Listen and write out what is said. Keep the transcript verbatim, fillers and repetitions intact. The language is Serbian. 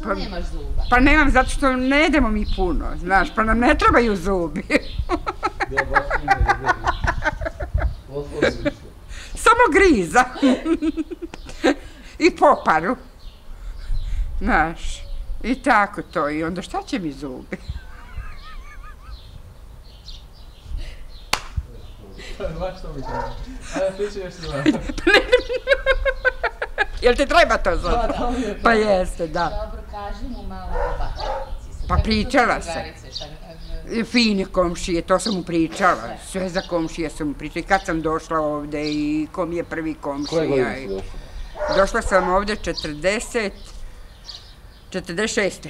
Što nemaš zuba? Pa nemam, zato što ne jedemo mi puno, znaš, pa nam ne trebaju zubi. Samo griza. I poparu. Znaš, i tako to. I onda šta će mi zubi? Baš što mi treba. Ajde, ti će još se zvati. Jel ti treba to zato? Pa jeste, da. Dobro, kaži mu malo o Batajnici. Pa pričala sam. Fine komšije, to sam mu pričala. Sve za komšije sam mu pričala. I kad sam došla ovde i kom je prvi komšija. Koje godine si došla? Došla sam ovde četrdeset, četrdeset šeste.